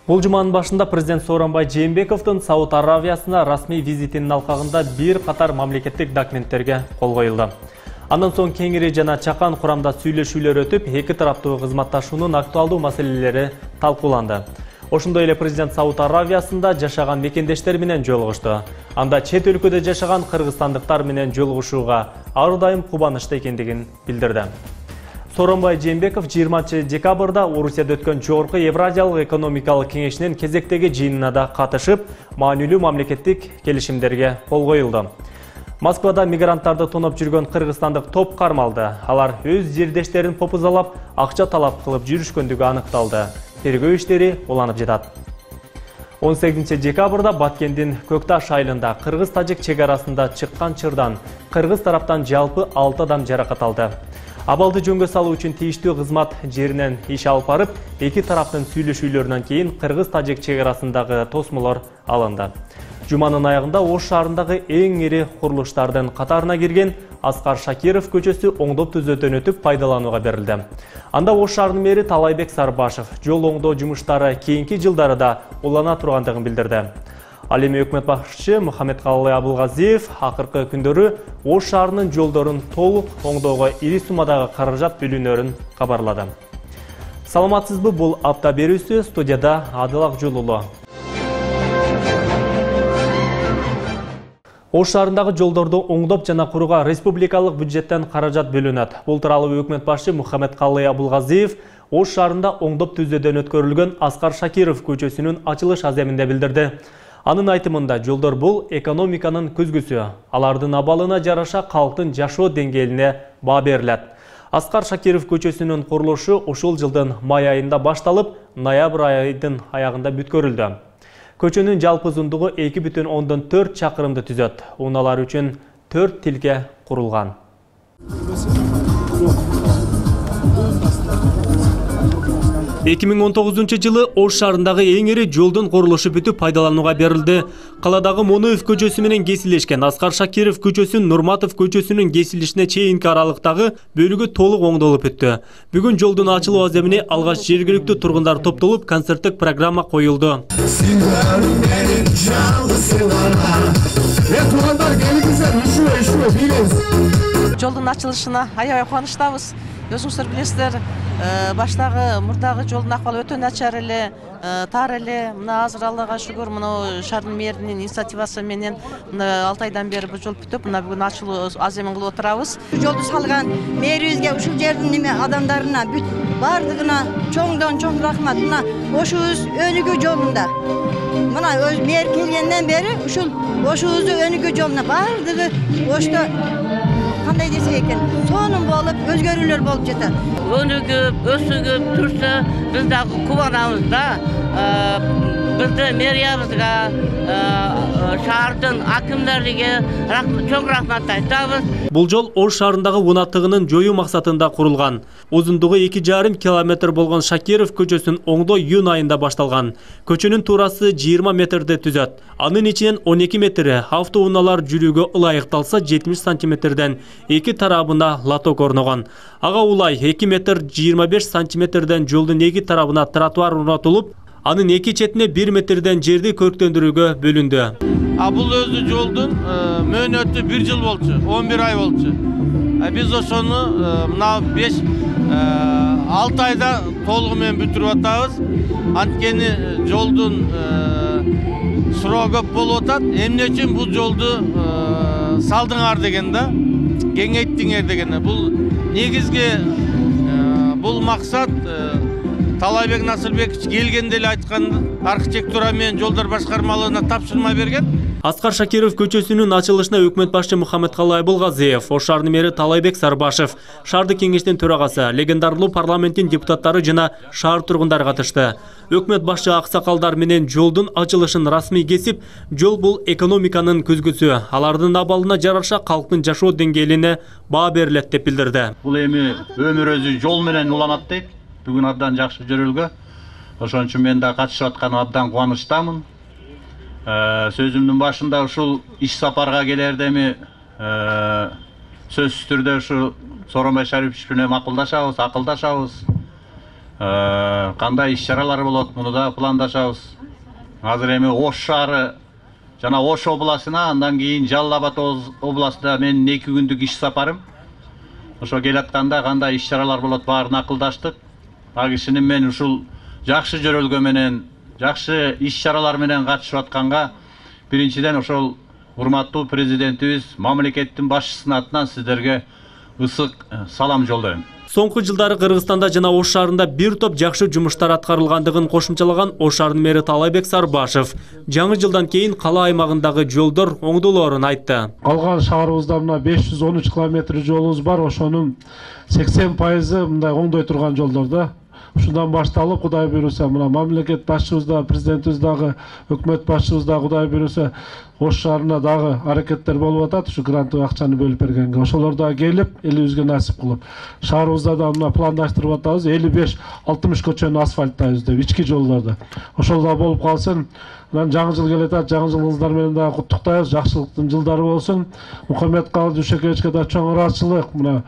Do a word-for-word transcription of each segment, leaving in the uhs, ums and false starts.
Бул жуманын башында президент Сооронбай Жээнбековдун Сауд Аравиясына расмий визитинин алкагында бир катар мамлекеттик документтерге кол коюлду. Андан соң кеңири жана чакан курамда сүйлөшүүлөр өтүп, эки тараптуу кызматташуунун актуалдуу маселелери талкууланды. Ошондой эле президент Сауд Аравиясында жашаган мекендештер менен жолугушту. Анда чет өлкөдө жашаган кыргызстандыктар менен жолугушууга ар дайым кубанычта экендигин билдирди. Сооронбай Жээнбеков жыйырманчы декабрда Орусияда өткөн Жогорку Евразиялык экономикалык кеңешинин кезектеги жыйынына да катышып, маанилүү мамлекеттик келишимдерге кол коюлду. Москвада мигранттарды тоноп жүргөн кыргызстандык топ кармалды. Алар өз жердештерин попузалап, акча талап кылып жүрүшкөндүгү аныкталды. Тергөө иштери уланып жатат. он сегизинчи декабрда Баткендин Көкташ айылында кыргыз-тажик чек арасында чыккан чырдан кыргыз тараптан жалпы алты адам жаракат алды. Абалды жөнгө салуу үчүн тийиштүү кызмат жеринен иш алып барып, эки тараптын сүйлөшүүлөрүнөн кийин кыргыз-тажик чек арасындагы тосмолор алынды. Жуманын аягында Ош шаарындагы эң ири курулуштардын катарына кирген Аскар Шакиров көчөсү оңдоп түзөөдөн өтүп пайдаланууга берилди. Анда Ош шаарынын мэри Талайбек Сарбашев жол оңдоо жумуштары кийинки жылдары да улана тургандыгын билдирди. Ал эми өкмөт башчысы Мухаммедкалый Абылгазиев акыркы күндөрү Ош шаарынын жолдорун толук оңдоого ири суммадагы каражат бөлүнөрүн кабарлады. Саламатсызбы, бул апта берүүсү, студияда Адыл Акжулулу. Ош шаарындагы жолдорду оңдоп жана курууга республикалык бюджеттен каражат бөлүнөт. Бул тууралуу өкмөт башчысы Мухаммедкалый Абылгазиев Ош шаарында оңдоп түзөөдөн өткөрүлгөн Аскар Шакиров көчөсүнүн ачылыш аземинде билдирди. Анын айтымында жолдор бул экономиканын көзгүсү. Алардын абалына жараша калктын жашоо деңгээлине баа берилет. Аскар Шакиров көчөсүнүн курулушу ушул жылдын май айында башталып, ноябрь айынын аягында бүткөрүлдү. Көчөнүн жалпы узундугу эки бүтүн ондон төрт чакырымды түзөт. Унаалар үчүн төрт тилке курулган. эки миң он тогузунчу жылы Ош шаарындагы эң ири жолдун курулушу бүтүп пайдаланууга берилди. Каладагы Монуев көчөсү менен кесилишкен Аскар Шакиров көчөсүнүн Нурматов көчөсүнүн кесилишине чейинки аралыктагы бөлүгү толук оңдолуп өттү. Бүгүн жолдун ачылуу аземине алгач жергиликтүү тургундар топтолуп, концерттик программа коюлду. Жолдун ачылышына аябай кубанычтабыз. Өзүңүздөр билесиздер, баштагы мурдагы жолдун акыбалы өтө начар эле, тар эле. Мына азыр Аллага шүгүр, мына шаардын мэринин инициативасы менен мына алты айдан бери бул жол бүтүп, мына бүгүн ачылуу аземин кылып отурабыз. Жолду салган мэрибизге, ушул жердин неме адамдарына, бүт бардыгына чоңдон чоң рахмат. Мына ошубуз өнүгүү жолунда. Мына өз мэр келгенден бери ушул ошубуздун өнүгүү жолуна бардыгы ошто кандай десек экен, сонун болуп, өзгөрүүлөр болуп жатат. Өнүгүп, өсүгүп турса, биз дагы кубанабыз да. Биздин мэриябызга, шаардын акимдериге чоң рахмат айтабыз. Бул жол Ош шаарындагы унаттыгынын жоюу максатында курулган. Узундугу эки жарым километр болгон Шакиров көчөсүн оңдоо июнь айында башталган. Көчөнүн туурасы жыйырма метрди түзөт. Анын ичинен он эки метри автоунаалар жүрүүгө ылайыкталса, жетимиш сантиметрден эки тарабына лоток орногон. Ага улай эки метр жыйырма беш сантиметрден жолдун эки тарабына тротуар орнотулуп, анын эки четине бир метрден жерди көрктөндүрүүгө бөлүндү. А бул өзү жолдун мөөнөтү бир жыл болчу, он бир ай болчу. Биз ошону мына беш алты айда толугу менен бүтүрүп атабыз. Анткени жолдун суроо көп болуп атат. Эмне үчүн бул жолду салдыңар деген да, кеңейттиңер деген. Бул негизги бул максат Талайбек Насырбекович келгенде эле айткан, архитектура менен жолдор башкармалыгына тапшырма берген. Аскар Шакиров көчөсүнүн ачылышына өкмөт башчысы Мухаммедкалый Абылгазиев, Ош шаарынын мэри Талайбек Сарбашев, шаардык кеңештин төрагасы, легендарлуу парламенттин депутаттары жана шаар тургундары катышты. Өкмөт башчы аксакалдар менен жолдун ачылышын расмий кесип, жол бул экономиканын көзгүсү. Алардын абалына жараша калктын жашоо деңгээлине баа берилет деп билдирди. Бул эми өмүр өзү жол менен уланат дейт. Бүгүн абдан жакшы жөрөлгө. Ошон үчүн мен да катышып атканыма абдан кубанычтамын. Сөзүмдүн башында ушул иш сапарга келерде эми сөзсүз түрдө ушу Сооронбай Шарипович менен макулдашабыз, акылдашабыз. кандай иш чаралар болот, муну да пландашабыз. Азыр эми Ош шаары жана Ош областына, андан кийин Жалал Абад областына менин эки күндүк иш сапарым. Ошо келатканда кандай иш чаралар болот баарын акылдаштык. А кишинин мен ушул жакшы жөрөлгө менен, жакшы иш чаралар менен катышып атканга биринчиден ошол урматтуу президентибиз, мамлекеттин башчысынын атынан сиздерге ысык салам жолдойм. Соңку жылдары Кыргызстанда жана Ош шаарында бир топ жакшы жумуштар аткарылгандыгын кошумчалаган Ош шаарынын мэри Таалайбек Сарбашев жаңы жылдан кийин кала аймагындагы жолдор оңдолоорун айтты. Калган шаарыбызда мына беш жүз он үч километр жолубуз бар, ошонун сексен пайызы мындай оңдой турган жолдор да. Ушундан башталып, Кудай буйруса, мына мамлекет башчыбыз да, президентибиз дагы, өкмөт башчыбыз да Кудай буйруса Ош шаарына дагы аракеттер болуп атат, ушу гранттык акчаны бөлүп бергенге. Ошолор да келип, элибизге насип кылып. Шаарыбызда да мына пландаштырып атабыз, элүү беш алтымыш көчөнү асфальттайбыз деп, ички жолдорду. Ошол да болуп калсын. Анан жаңы жыл келатат, жаңы жылыңыздар менен дагы куттуктайбыз, жакшылыктын жылдары болсун. Мухаммед Калый Дүйшөкевичке да чоң ыраазычылык. Мына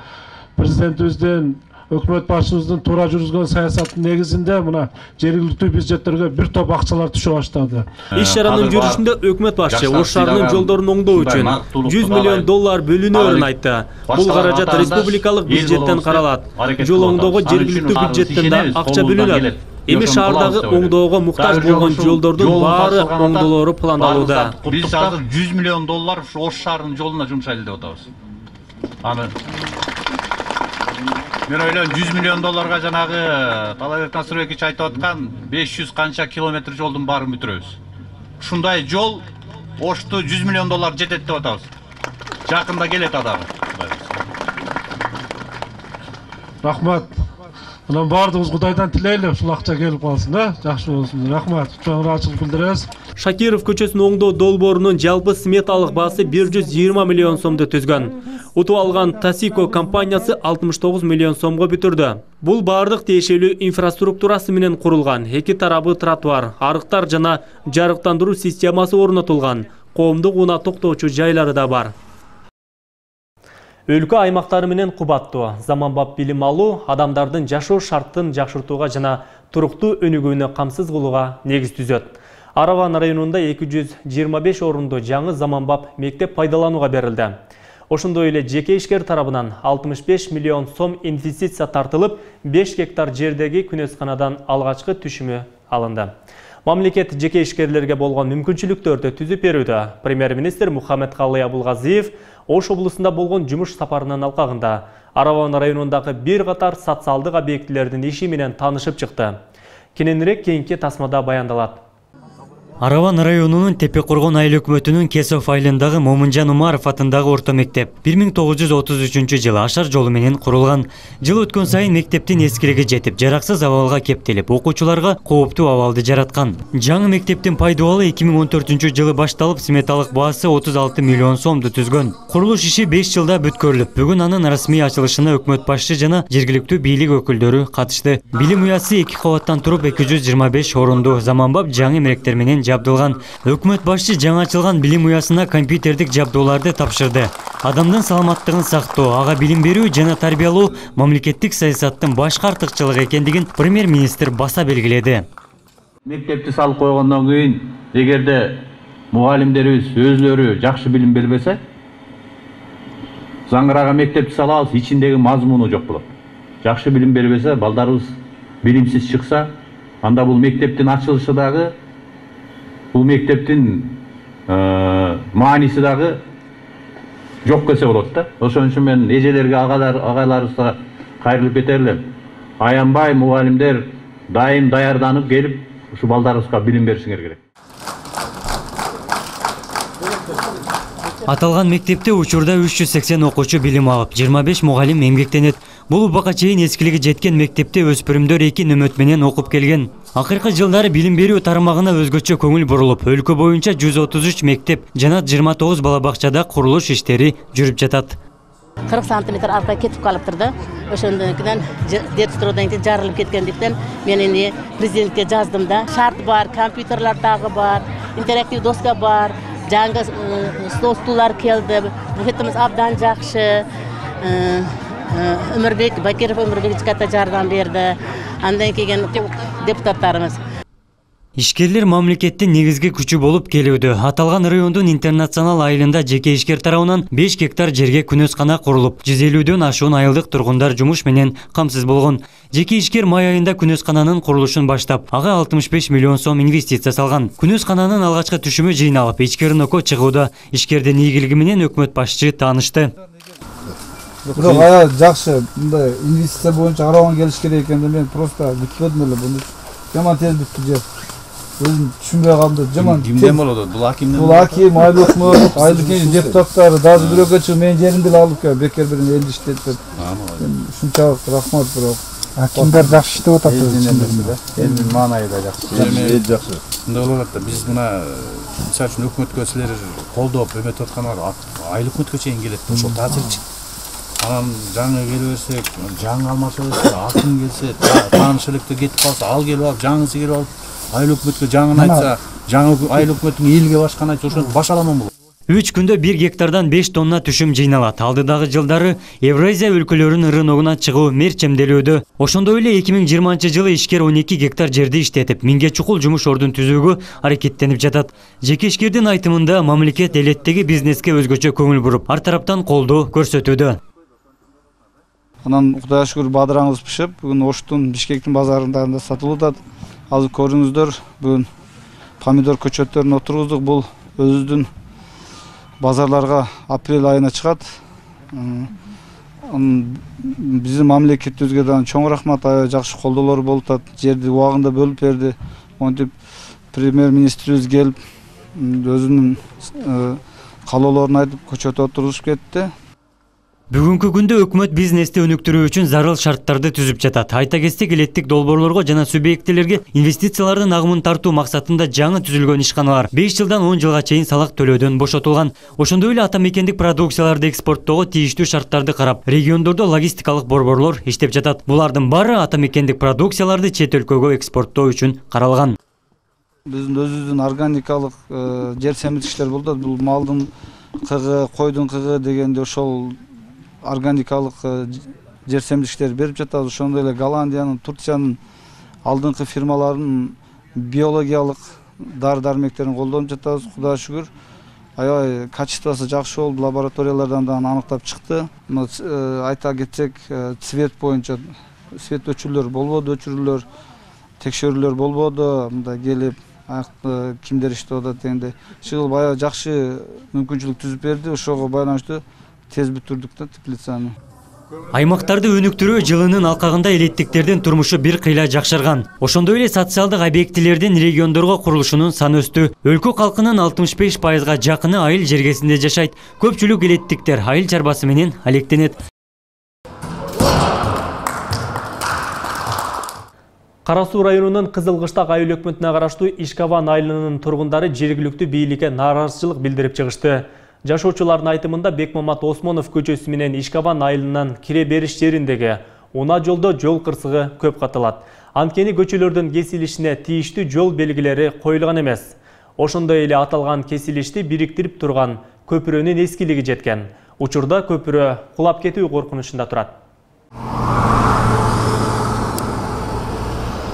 президентибиздин, өкмөт башчыбыздын туура жүргүзгөн саясаттын негизинде мына жергиликтүү бюджеттерге бир топ акчалар түшө баштады. Иш чаранын жүрүшүндө өкмөт башчы Ош шаарынын жолдорун оңдоо үчүн жүз миллион доллар бөлүнөөрүн айтты. Бул каражат республикалык бюджеттен каралат. Жол оңдоого жергиликтүү бюджеттен да акча бөлүнөт. Эми шаардагы оңдоого муктаж болгон жолдордун баары оңдолоору пландалууда. Биз азыр жүз миллион доллар Ош шаарынын жолуна жумшайлы деп атабыз. Аны мен ойлойм жүз миллион долларга жанагы Таалайбек Насырбекович айтып аткан беш жүз канча километр жолдун баарын бүтүрөбүз. Ушундай жол Ошту жүз миллион доллар жетет деп атабыз. Жакында келет адагы. Рахмат. Анан баардыгыбыз Кудайдан тилейли, ушул акча келип калсын, да? Жакшы болсун. Рахмат. Чоң ыраазычылык билдиребиз. Шакиров көчөсүн оңдоо долбоорунун жалпы сметалык баасы бир жүз жыйырма миллион сомду түзгөн. Утуп алган Тасико компаниясы алтымыш тогуз миллион сомго бүтүрдү. Бул бардык тиешелүү инфраструктурасы менен курулган, эки тарабы тротуар, арыктар жана жарыктандыруу системасы орнотулган, коомдук унаа токтоочу жайлары да бар. Өлкө аймактары менен кубаттуу, заманбап билим алуу адамдардын жашоо шарттын жакшыртууга жана туруктуу өнүгүүнү камсыз кылууга негиз түзөт. Араван районунда эки жүз жыйырма беш орунду жаңы заманбап мектеп пайдаланууга берилди. Ошондой эле жеке ишкер тарабынан алтымыш беш миллион сом инвестиция тартылып, беш гектар жердеги күнөсканадан алгачкы түшүмү алынды. Мамлекет жеке ишкерлерге болгон мүмкүнчүлүктөрдү түзүп берүүдө. Премьер-министр Мухаммед Калый Абулгазиев Ош облусунда болгон жумуш сапарынын алкагында Араван районундагы бир катар социалдык объектилердин иши менен таанышып чыкты. Кененирээк кийинки тасмада баяндалат. Араван районунун Тепе-Коргон айыл өкмөтүнүн Кесов айылындагы Момунжан Умаров атындагы орто мектеп бир миң тогуз жүз отуз үчүнчү жылы ашар жолу менен курулган. Жыл өткөн сайын мектептин эскилиги жетип, жараксыз абалга кептелип, окуучуларга кооптуу абалды жараткан. Жаңы мектептин пайдубалы эки миң он төртүнчү жылы башталып, сметалык баасы отуз алты миллион сомду түзгөн. Курулуш иши беш жылда бүткөрүлүп, бүгүн анын расмий ачылышына өкмөт башчы жана жергиликтүү бийлик өкүлдөрү катышты. Билим уясы эки кабаттан туруп эки жүз жыйырма беш орунду заманбап жаңы эмеректер менен жабдылган. Өкмөт башчы жаңы ачылган билим уясына компьютердик жабдууларды тапшырды. Адамдын саламаттыгын сактоо, ага билим берүү жана тарбиялоо мамлекеттик саясаттын башкы артыкчылыгы экендигин премьер-министр баса белгиледи. Мектепти салып койгондон кийин, эгерде мугалимдерибиз өзлөрү жакшы билим бербесе, заңгырага мектепти салабыз, ичиндеги мазмуну жок болот. Жакшы билим бербесе, балдарыбыз билимсиз чыкса, анда бул мектептин ачылышы дагы, бул мектептин мааниси дагы жок келсе болот да. Ошон үчүн мен эжелерге, агайларыбызга кайрылып кетер элем. Аянбай мугалимдер дайым даярданып келип, ушу балдарыбызга билим беришиңер керек. Аталган мектепте учурда үч жүз сексен окуучу билим алып, жыйырма беш мугалим эмгектенет. Бул убакка чейин эскилиги жеткен мектепте өспүрүмдөр эки нөмөт менен окуп келген. Акыркы жылдары билим берүү тармагына өзгөчө көңүл бурулуп, өлкө боюнча жүз отуз үч мектеп жана жыйырма тогуз бала бакчада курулуш иштери жүрүп жатат. кырк сантиметр арка кетип калыптыр да. Ошондон кийин детстройдон кийин жарылып кеткендиктен мен эми президентке жаздым да. Шарт бар, компьютерлер дагы бар, интерактив доска бар, жаңы стол стулдар келди. Буфетimiz абдан жакшы. Өмүрбек Бакиров Өмүрбек ката жардам берди. Андан кийин депутаттарыбыз. Ишкерлер мамлекеттин негизги күчү болуп келүүдө. Аталган райондун интернационал айылында жеке ишкер тарабынан беш гектар жерге күнөскана курулуп, жүз элүүдөн ашуун айылдык тургундар жумуш менен камсыз болгон. Жеке ишкер май айында күнөскананын курулушун баштап, ага алтымыш беш миллион сом инвестиция салган. Күнөскананын алгачкы түшүмү жыйналып, ичкеринокко чыгууда. Ишкердин ийгилиги менен өкмөт башчы таанышты. Бирок ая жакшы, мындай инвестиция боюнча карабан келиш керек экен деп мен просто күтпөдүм эле буну. Жаман тез бүттү жер. Өзүм түшүнбөй калдым. Жаман кимден болот? Бул акимден. Бул аким, айлык өкмөт, айлык депутаттар дагы бирөөгө чыгып менин жеримди алып келип бекер бир элди иштетип берди. Ушунчалык рахмат бирок. Акимдер жакшы иштеп атат өзүнүн. Элдин маанайда жакшы. Эл жакшы. Мындай болуп атат. Биз мына мисалы үчүн өкмөткө силер колдоп өмөтүп аткандар айлык өкмөткө чейин келет. Ошол таасирчи. Анан жаңы келе берсек, жаңы алмаша берсек, аким келсе, тааныш электе кетип калса, ал келип алып, жаңысы келип алып, айыл өкмөткө жаңын айтса, жаңы айыл өкмөттүн элге башканы айтса, ошону баша аламан болот. үч күндө бир гектардан беш тонна түшүм жыйналат. Алдыдагы жылдары Евразия өлкөлөрүнүн рыногуна чыгуу мерчемделүүдө. Ошондой эле эки миң жыйырманчы жылы ишкер он эки гектар жерди иштетип, миңге чукул жумуш ордун түзүүгө аракеттенип жатат. Жеке ишкердин айтымында мамлекет элеттеги бизнеске өзгөчө көңүл буруп, ар тараптан колдоо көрсөтүүдө. Анан Кудайга шүгүр бадыраңыз пишип, бүгүн Оштун Бишкектин базарында сатылып атат. Азыр көрүңүздөр, бүгүн помидор көчөттөрүн отургуздук. Бул өзүбүздүн базарларга апрель айына чыгат. Биздин мамлекетибизге да чоң рахмат, аябай жакшы колдоолор болуп атат. Жерди убагында бөлүп берди. Монтип премьер-министрибиз келип, өзүнүн каалоолорун айтып, көчөт отургузуп кетти. Бүгүнкү күндө өкмөт бизнести өнүктүрүү үчүн зарыл шарттарды түзүп жатат. Айта кетсек, элеттик долбоорлорго жана субъектилерге инвестициялардын агымын тартуу максатында жаңы түзүлгөн ишканалар беш жылдан он жылга чейин салак төлөөдөн бошотулган. Ошондой эле ата мекендик продукцияларды экспорттоого тийиштүү шарттарды карап, региондордо логистикалык борборлор иштеп жатат. Булардын баары ата мекендик продукцияларды чет өлкөгө экспорттоо үчүн каралган. Биздин өзүбүздүн органикалык жер семирткичтер болуп атат. Бул малдын кыгы, койдун кыгы дегенде ошол органикалык жер семирткичтер берип жатабыз. Ошондой эле Голландиянын, Турциянын алдыңкы фирмаларынын биологиялык дары дармектерин колдонуп жатабыз. Кудайга шүгүр, аябай качествосы жакшы болуп, лабораториялардан да аныктап чыкты. Айта кетсек, цвет боюнча цвет өчүрүүлөр болбоду, өчүрүүлөр, текшерүүлөр болбоду. Мындай келип, кимдер иштеп атат дегенде, чыгылып аябай жакшы мүмкүнчүлүк түзүп берди. Ошого байланыштуу тез бүтүрдүк да теплицаны. Аймактарды өнүктүрүү жылынын алкагында элеттиктердин турмушу бир кыйла жакшырган. Ошондой эле социалдык объектилердин региондорго курулушунун саны өстү. Өлкө калкынын алтымыш беш пайызга жакыны айыл жергесинде жашайт. Көпчүлүк элеттиктер айыл чарбасы менен алектенет. Кара Суу районунун Кызылкыштак айыл өкмөтүнө караштуу Ишкаван айылынын тургундары жергиликтүү бийликке нааразычылык билдирип чыгышты. Жашоочулардын айтымында Бекмамат Осмонов көчөсү менен Ишкаван айылынан кире бериш жериндеги унаа жолдо жол кырсыгы көп катылат. Анткени көчөлөрдүн кесилишине тийиштүү жол белгилери коюлган эмес. Ошондой эле аталган кесилишти бириктирип турган көпүрөнүн эскилиги жеткен. Учурда көпүрө кулап кетүү коркунучунда турат.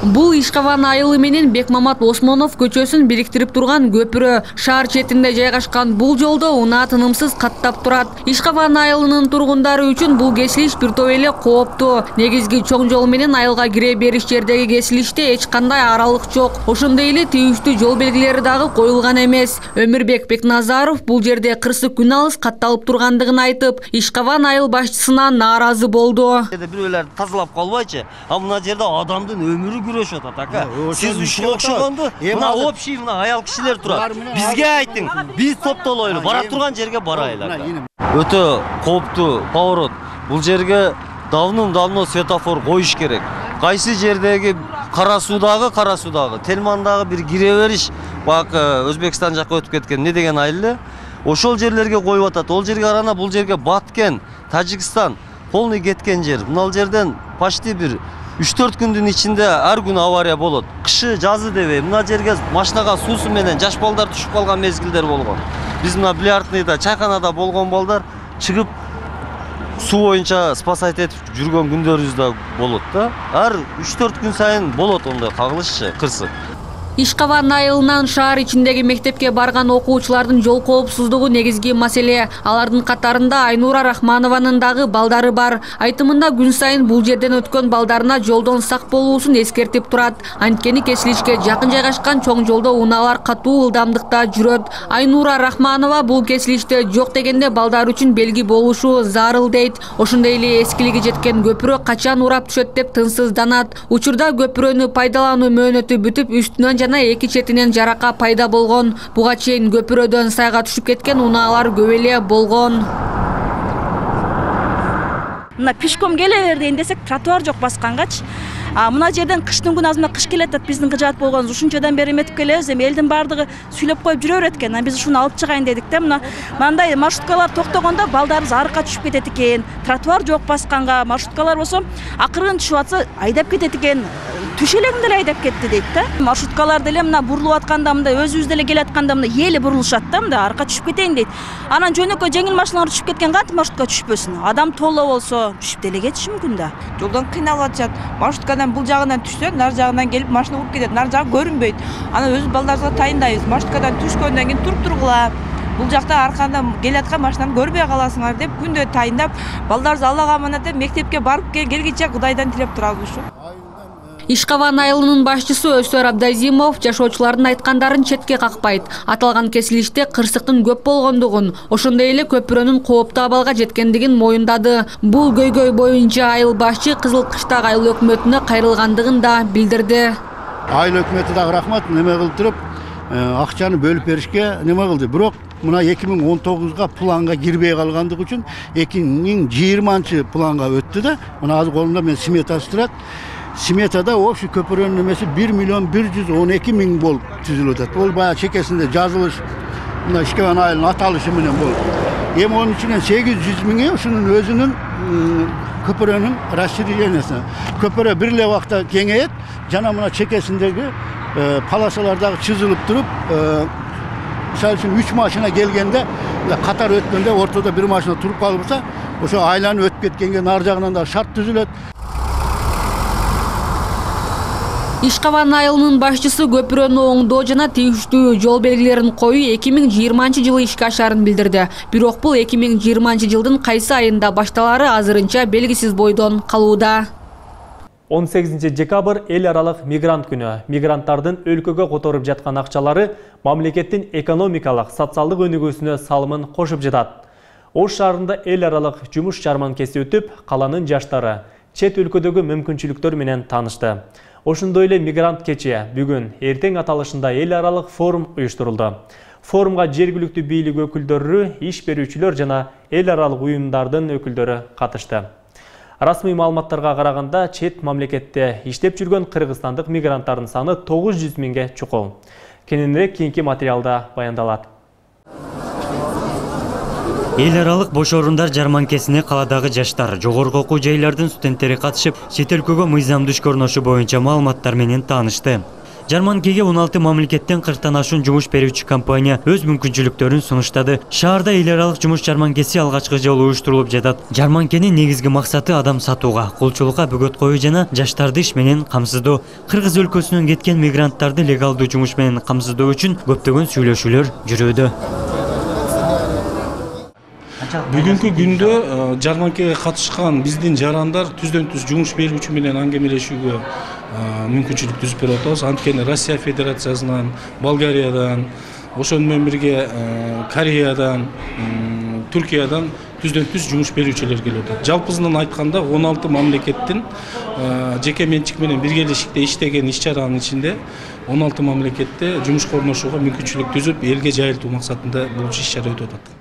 Бул Ишкаван айылы менен Бекмамат Осмонов көчөсүн бириктирип турган көпүрө. Шаар четинде жайгашкан бул жолдо унаа тынымсыз каттап турат. Ишкаван айылынын тургундары үчүн бул кесилиш бир топ эле кооптуу. Негизги чоң жол менен айылга кире бериш жердеги кесилиште эч кандай аралык жок. Ошондой эле тийиштүү жол белгилери дагы коюлган эмес. Өмүрбек Бекназаров бул жерде кырсы күн алыс катталып тургандыгын айтып, Ишкаван айыл башчысынан нааразы болду. Бирөөлөр тазалап калбайчы, а мына жерде адамдын өмүрү күрөшүп атат, ака. Сиз ушуга окшогонду, мына общий мына аял кишилер турат. Бизге айтың, биз топтолойлу, бара турган жерге барайлы. Өтө кооптуу поворот. Бул жерге давным-давно светофор коюш керек. Кайсы жердеги Кара Суудагы, Кара Суудагы, Телмандагы бир кире бериш, бак Өзбекстан жакка өтүп кеткен не деген айыл? Ошол жерлерге коюп атат. Ол жерге карана, бул жерге Баткен, Тажикстан полный кеткен жер. Мына жерден почти бир үч төрт күндүн ичинде ар күн авария болот. Кышы, жазы дебей, мына жерге машинага суусу менен жаш балдар түшүп калган мезгилдер болгон. Биз мына Билярдныйда, чайканада болгон балдар чыгып суу боюнча спасать этип жүргөн күндөрүбүз да болот да. Ар үч төрт күн сайын болот ондай кагылышчы, кырсык. Ишкаван айылынан шаар ичиндеги мектепке барган окуучулардын жол коопсуздугу негизги маселе. Алардын катарында Айнура Рахманованын дагы балдары бар. Айтымында күн сайын бул жерден өткөн балдарына жолдон сак болуусун эскертип турат. Анткени кесилишке жакын жайгашкан чоң жолдо унаалар катуу ылдамдыкта жүрөт. Айнура Рахманова бул кесилиште жок дегенде балдар үчүн белги болушу зарыл дейт. Ошондой эле эскилиги жеткен көпүрө качан урап түшөт деп тынсызданат. Учурда көпүрөнү пайдалануу мөөнөтү бүтүп, үстүнөн жана эки четинен жарака пайда болгон. Буга чейин көпүрөдөн сайга түшүп кеткен унаалар көп эле болгон. Мына пешком келе бер дейин десек, тротуар жок баскангачы. А мына жерден кыштын күнү азырына кыш келет, биздин кыжаат болгонубуз ушунчадан бери эметип келебиз. Эми элдин баардыгы сүйлөп коюп жүрө берет экен. Биз ушуну алып чыгайын дедик да. Мына мындай маршруткалар токтогондо балдарыбыз арыкка түшүп кетет экен. Тротуар жок басканга, маршруткалар болсо акырын түшүп атса айдап кетет экен. Түшө элегинде эле айдап кетти дейт да. Маршруткалар деле мына бурулуп атканда, мындай өзүбүз деле келе атканда мына эли бурулушат да, мындай аркка түшүп кетейин дейт. Анан жөнөкөй жеңил машиналар түшүп кеткен кантип маршрутка түшпөсүн? Адам толо болсо түшүп деле кетиши мүмкүн да. Жолдон кыйналып атышат. Маршруткадан бул жагынан түшсө, нар жагынан келип машина уруп кетет. Нар жагы көрүнбөйт. Анан өзүбүз балдарыбызга тайындайбыз. Маршруткадан түшкөндөн кийин туруп тургула. Бул жакта арканда келаткан машинаны көрбөй каласыңар деп күндө тайындап, балдарыбыз Аллага аманат деп мектепке барып келгиче Кудайдан тилеп турабыз ушу. Ишкаван айылынын башчысы Өсөр Абдазимов жашоочулардын айткандарын четке какпайт. Аталган кесилиште кырсыктын көп болгондугун, ошондой эле көпүрөнүн кооптуу абалга жеткендигин моюндады. Бул көйгөй боюнча айыл башчы Кызыл Кыштак айыл өкмөтүнө кайрылгандыгын да билдирди. Айыл өкмөтү дагы рахмат неме кылып туруп, акчаны бөлүп беришке неме кылды. Бирок мына эки миң он тогузга планга кирбей калгандыгы үчүн эки миң жыйырманчы планга өттү да. Мына азыр колумда мен сметасы турат. Сметада общий көпүрөнүн немеси бир миллион бир жүз он эки миң болуп түзүлүп атат. Ол баягы чекесинде жазылыш, мына Ишкаван айылынын аталышы менен болуп. Эми онун ичинен сегиз жүз миңи ушунун өзүнүн көпүрөнүн расширениясы. Көпүрө бир эле убакта кеңейет, жана мына чекесиндеги полосалар дагы чызылып туруп, мисалы үчүн үч машина келгенде, катар өткөндө ортодо бир машина туруп калса, ошо айланып өтүп кеткенге нар жагынан да шарт түзүлөт. Ишкаван айылынын башчысы көпүрөнү оңдоо жана тийиштүү жол белгилерин коюу эки миң жыйырманчы жылы ишке ашарын билдирди. Бирок бул эки миң жыйырманчы жылдын кайсы айында башталары азырынча белгисиз бойдон калууда. он сегизинчи декабрь эл аралык мигрант күнү. Мигранттардын өлкөгө которуп жаткан акчалары мамлекеттин экономикалык, социалдык өнүгүүсүнө салымын кошуп жатат. Ош шаарында эл аралык жумуш жарманкеси өтүп, каланын жаштары чет өлкөдөгү мүмкүнчүлүктөр менен таанышты. Ошондой эле мигрант кечи бүгүн эртең аталышында эл аралык форум уюштурулду. Форумга жергиликтүү бийлик өкүлдөрү, иш берүүчүлөр жана эл аралык уюмдардын өкүлдөрү катышты. Расмий маалыматтарга караганда, чет мамлекетте иштеп жүргөн кыргызстандык мигранттардын саны тогуз жүз миңге чукул. Кененирээк кийинки материалда баяндалат. Эл аралык бош орундар жарманкесине каладагы жаштар, жогорку окуу жайлардын студенттери катышып, чет өлкөгө мыйзамдуу ишкөрнөшү боюнча маалыматтар менен таанышты. Жарманкеге он алты мамлекеттен кырктан ашуун жумуш берүүчү компания өз мүмкүнчүлүктөрүн сунуштады. Шаарда эл аралык жумуш жарманкеси алгачкы жолу уюштурулуп жатат. Жарманкенин негизги максаты адам сатууга, кулчулукка бөгөт коюу жана жаштарды иш менен камсыздоо. Кыргыз өлкөсүнөн кеткен мигранттарды легалдуу жумуш менен камсыздоо үчүн көптөгөн сүйлөшүүлөр жүрүүдө. Бүгүнкү күндө жарманкеге катышкан биздин жарандар түздөн түз жумуш берүүчү менен аңгемелешүүгө мүмкүнчүлүк түзүп берип атабыз. Анткени Россия Федерациясынан, Болгариядан, ошону менен бирге Кореядан, Түркиядан түздөн түз жумуш берүүчүлөр келип атат. Жалпысынан айтканда он алты мамлекеттин жеке менчик менен биргелешикте иштеген иш-чаранын ичинде он алты мамлекетте жумуш корношууга мүмкүнчүлүк түзүп, элге жайылтуу максатында бул иш-чара өтүп атат.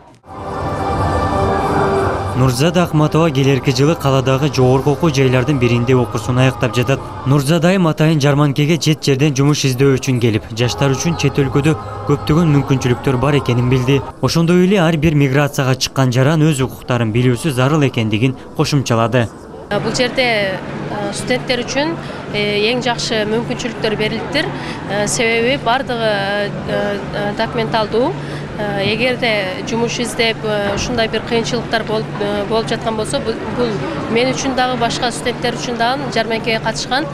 Нурзада Акматова келерки жылы каладагы жогорку окуу жайлардын биринде окуусун аяктап жатат. Нурзада айым атайын жарманкеге чет жерден жумуш издөө үчүн келип, жаштар үчүн чет өлкөдө көптөгөн мүмкүнчүлүктөр бар экенин билди. Ошондой эле ар бир миграцияга чыккан жаран өз укуктарын билүүсү зарыл экендигин кошумчалады. Бул жерде студенттер үчүн эң жакшы мүмкүнчүлүктөр берилиптир. Себеби бардыгы документалдуу. Эгерде жумуш издеп ушундай бир кыйынчылыктар болуп жаткан болсо, бул мен үчүн дагы башка студенттер үчүн дагы жарманкеге катышкан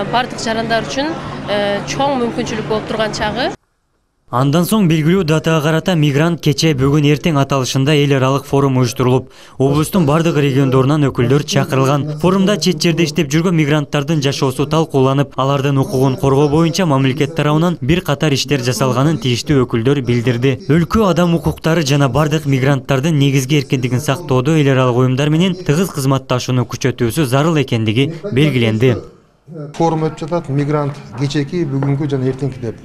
бардык жарандар үчүн чоң мүмкүнчүлүк болуп турган чагы. Андан соң белгилүү датага карата мигрант кече бүгүн эртең аталышында эл аралык форум уюштурулуп, облустун бардык региондорунан өкүлдөр чакырылган. Форумда чет жерде иштеп жүргөн мигранттардын жашоосу талкууланып, алардын укугун коргоо боюнча мамлекет тарабынан бир катар иштер жасалганын тийиштүү өкүлдөр билдирди. Өлкө адам укуктары жана бардык мигранттардын негизги эркиндигин сактоодо эл аралык уюмдар менен тыгыз кызматташууну күчөтүүсү зарыл экендиги белгиленди. Форум өтүп жатат, мигрант кечеки, бүгүнкү жана эртеңки деп.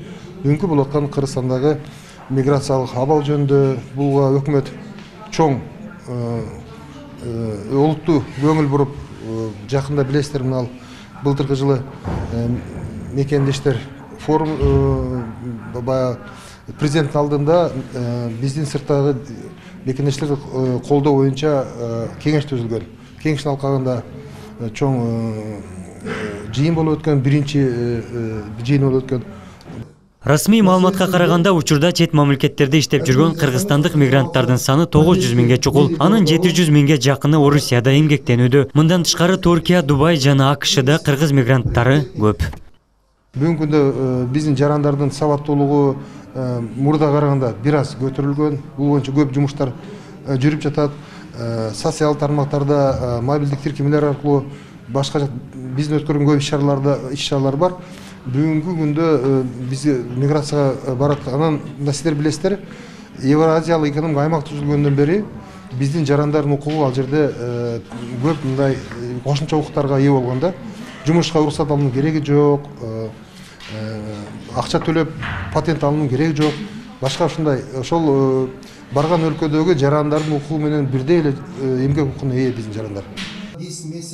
Бүгүнкү болуп аткан Кыргызстандагы миграциялык абал жөнүндө буга өкмөт чоң олуттуу көңүл буруп, жакында билесиздер, мына былтыркы жылы мекендештер форум баягы президенттин алдында биздин сырттагы мекендештерди колдоо боюнча кеңеш түзүлгөн. Кеңештин алкагында чоң жыйын болуп өткөн, биринчи жыйын болуп өткөн. Расмий маалыматка караганда учурда чет мамлекеттерде иштеп жүргөн кыргызстандык мигранттардын саны тогуз жүз миңге чукул. Анын жети жүз миңге жакыны Орусияда эмгектенүүдө. Мындан тышкары Туркия, Дубай жана АКШда кыргыз мигранттары көп. Бүгүнкү күндө биздин жарандардын сабаттуулугу мурдага караганда бир аз көтөрүлгөн. Бул боюнча көп жумуштар жүрүп жатат. Социалдык тармактарда мобилдик тиркемелер аркылуу башка биздин өткөргөн көп иш-чараларда иш-чаралар бар. Бүгүнкү күндө биз миграцияга барат. Анан сиздер билесиздер, Евразиялык экономикалык аймак түзүлгөндөн бери биздин жарандардын укугу ал жерде көп мындай кошумча укуктарга ээ болгон да. Жумушка уруксат алуунун кереги жок, акча төлөп патент алуунун кереги жок. Башка ушундай ошол барган өлкөдөгү жарандардын укугу менен бирдей эле эмгек укугуна ээ биздин жарандар.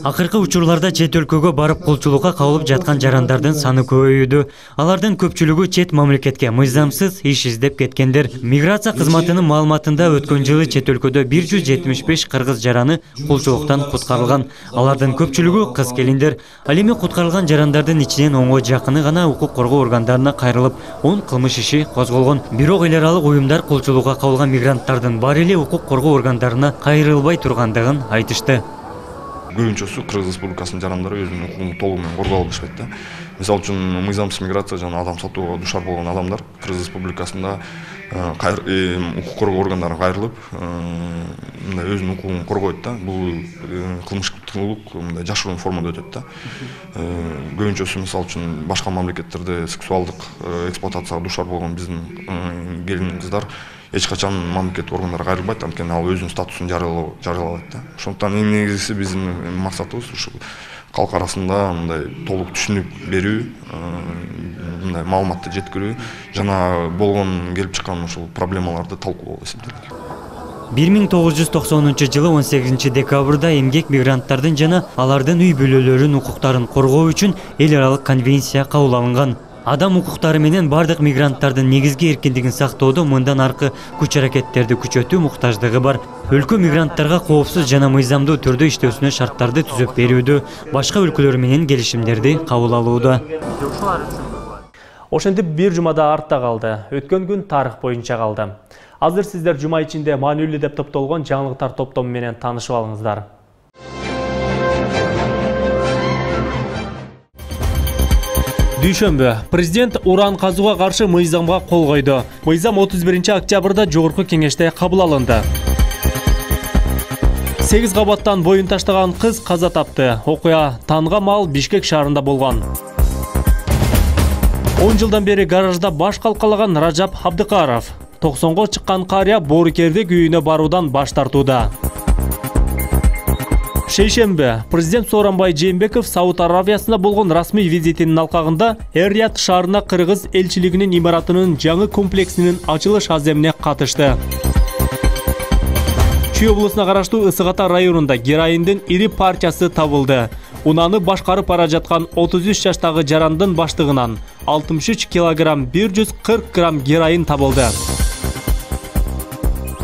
Акыркы учурларда чет өлкөгө барып кулчулукка кабылып жаткан жарандардын саны көбөйүүдө. Алардын көпчүлүгү чет мамлекетке мыйзамсыз иш издеп кеткендер. Миграция кызматынын маалыматында өткөн жылы чет өлкөдө бир жүз жетимиш беш кыргыз жараны кулчулуктан куткарылган. Алардын көпчүлүгү кыз келиндер. Ал эми куткарылган жарандардын ичинен онго жакыны гана укук коргоо органдарына кайрылып, он кылмыш иши козголгон. Бирок эл аралык уюмдар кулчулукка кабылган мигранттардын баары эле укук коргоо органдарына кайрылбай тургандыгын айтышты. Көбүнчөсү Кыргыз Республикасынын жарандары өзүнүн укугун толугу менен коргой албашпайт да. Мисалы үчүн мыйзамсыз миграция жана адам сатууга душар болгон адамдар Кыргыз Республикасында укук коргоо органдарына кайрылып, мындай өзүнүн укугун коргойт да. Бул кылмыштуулук мындай жашыруун формада өтөт да. Көбүнчөсү мисалы үчүн башка мамлекеттерде сексуалдык эксплуатацияга душар болгон биздин келин кыздар эч качан мамлекеттик органдарга кайрылбайт, анткени ал өзүнүн статусун жарыялабайт да. Ошондуктан эң негизгиси биздин максатыбыз ушул калк арасында мындай толук түшүнүк берүү, мындай маалыматты жеткирүү жана болгон келип чыккан ушул проблемаларды талкуулоо деп эсептейт. бир миң тогуз жүз токсонунчу жылы он сегизинчи декабрда эмгек мигранттардын жана алардын үй бүлөлөрүнүн укуктарын коргоо үчүн эл аралык конвенция кабыл алынган. Адам укуктары менен бардык мигранттардын негизги эркиндигин сактоодо мындан аркы күч-аракеттерди күчөтүү муктаждыгы бар. Өлкө мигранттарга коопсуз жана мыйзамдуу түрдө иштөөсүнө шарттарды түзүп берүүдө, башка өлкөлөр менен келишимдерди кабыл алууда. Ошентип бир жумада артта калды. Өткөн күн тарых боюнча калды. Азыр сиздер жума ичинде маанилүү деп топтолгон жаңылыктар топтому менен таанышып алыңыздар. Дүйшөмбү президент уран казууга каршы мыйзамга кол койду. Мыйзам отуз биринчи октябрда жогорку кеңеште кабыл алынды. сегиз кабаттан боюн таштаган кыз каза тапты. Окуя танга мал Бишкек шаарында болгон. он жылдан бери гаражда баш калкалаган Ражап Абдыкаров. токсонго чыккан карыя боорукердик үйүнө баруудан баш тартууда. Шейшембе президент Сооронбай Жээнбеков Сауд Аравиясына болгон расмий визитинин алкагында Эр-Рияд шаарына кыргыз элчилигинин имаратынын жаңы комплексинин ачылыш аземине катышты. Чүй облусуна караштуу Ысык Ата районунда героиндин ири партиясы табылды. Унаны башкарып бара жаткан отуз үч жаштагы жарандын баштыгынан алтымыш үч килограмм бир жүз кырк грамм героин табылды.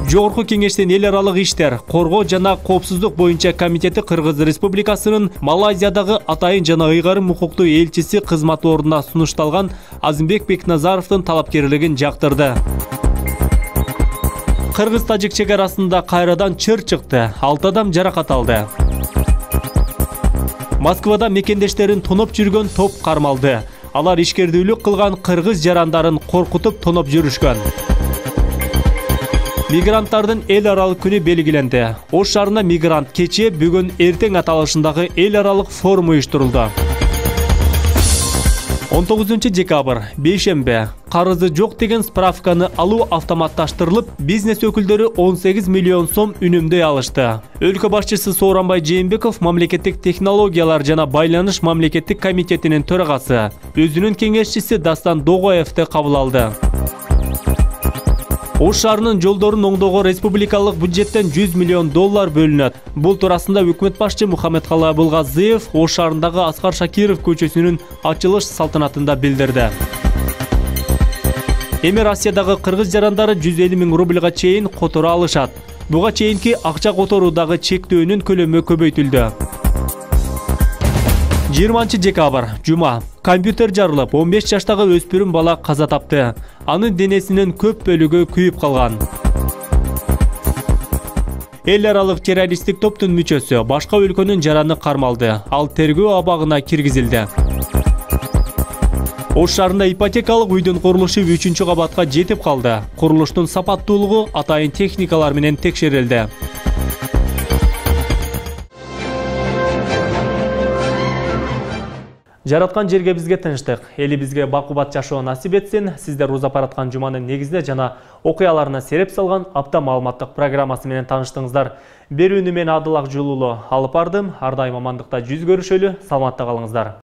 Жогорку кеңештин эл аралык иштер, коргоо жана коопсуздук боюнча комитети Кыргыз Республикасынын Малайзиядагы атайын жана ыйгарым укуктуу элчиси кызмат ордуна сунушталган Азымбек Бекназаровдун талапкерлигин жактырды. Кыргыз-тажик чек арасында кайрадан чыр чыкты, алты адам жаракат алды. Москвада мекендештерин тоноп жүргөн топ кармалды. Алар ишкердүүлүк кылган кыргыз жарандарын коркутуп тоноп жүрүшкөн. Мигранттардын эл аралык күнү белгиленди. Ош шаарында мигрант кечээ бүгүн эртең аталышындагы эл аралык форум уюштурулду. он тогузунчу декабрь, бейшембе, карызы жок деген справканы алуу автоматташтырылып, бизнес өкүлдөрү он сегиз миллион сом үнөмдөй алышты. Өлкө башчысы Сооронбай Жээнбеков мамлекеттик технологиялар жана байланыш мамлекеттик комитетинин төрагасы, өзүнүн кеңешчиси Дастан Догоевди кабыл алды. Ош шаарынын жолдорун оңдоого республикалык бюджеттен жүз миллион доллар бөлүнөт. Бул туурасында өкмөт башчы Мухаммедкалы Абылгазиев Ош шаарындагы Аскар Шакиров көчөсүнүн ачылыш салтанатында билдирди. Эми Россиядагы кыргыз жарандары жүз элүү миң рубльга чейин которо алышат. Буга чейинки акча которуудагы чектөөнүн көлөмү көбөйтүлдү. жыйырманчы декабрь, жума, компьютер жарылып, он беш жаштагы өспүрүм бала каза тапты. Анын денесинин көп бөлүгү күйүп калган. Эл аралык террористтик топтун мүчөсү башка өлкөнүн жараны кармалды. Ал тергөө абагына киргизилди. Ош шаарында ипотекалык үйдүн курулушу үчүнчү кабатка жетип калды. Курулуштун сапаттуулугу атайын техникалар менен текшерилди. Жараткан жерге бизге тынчтык, эли бизге бакубат жашоо насип этсин. Сиздер Узап Араткан жуманын негизде жана окуяларына сереп салган апта маалыматтык программасы менен тааныштыңыздар. Берүүнү мен Адыл Акжулулу алып бардым. Ар дайым амандыкта жүз көрүшөлү, саламатта калыңыздар.